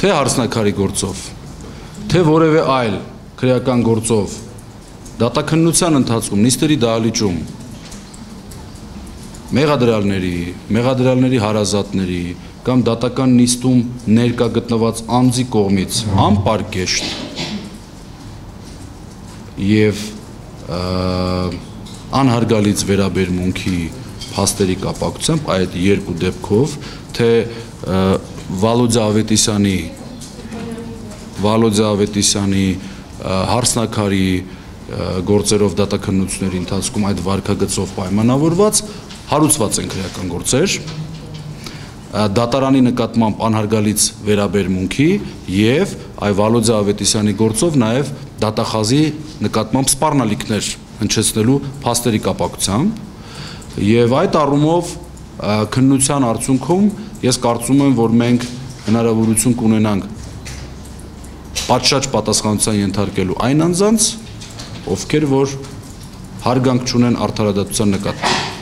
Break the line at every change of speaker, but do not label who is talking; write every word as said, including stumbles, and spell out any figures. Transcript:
թե հարսնակարի գործով, թե որևէ այլ քրեական գործով դատաքննության ընթացքում նիստերի դահլիճում մեղադրյալների, մեղադրյալների հարազատների կամ դատական նիստում ներկա գտնված անձի կողմից անպարկեշտ եւ անհարգալից վերաբերմունքի փաստերի կապակցությամբ այդ երկու դեպքով թե Վալոդյա Ավետիսյանի Վալոդյա Ավետիսյանի հարսնակարի գործերով դատաքննությունների ընթացքում այդ վարքագծով պայմանավորված հարուցված են քրեական գործեր դատարանի նկատմամբ անհարգալից վերաբերմունքի եւ այ Վալոդյա Ավետիսյանի գործով նաեւ դատախազի նկատմամբ սպառնալիքներ հնչեցնելու փաստերի կապակցությամբ եւ այդ առումով քննության արդյունքում ես կարծում եմ որ մենք հնարավորություն կունենանք պատշաճ պատասխանատվության ենթարկելու այն անձանց ովքեր որ հարգանք չունեն արդարադատության նկատմամբ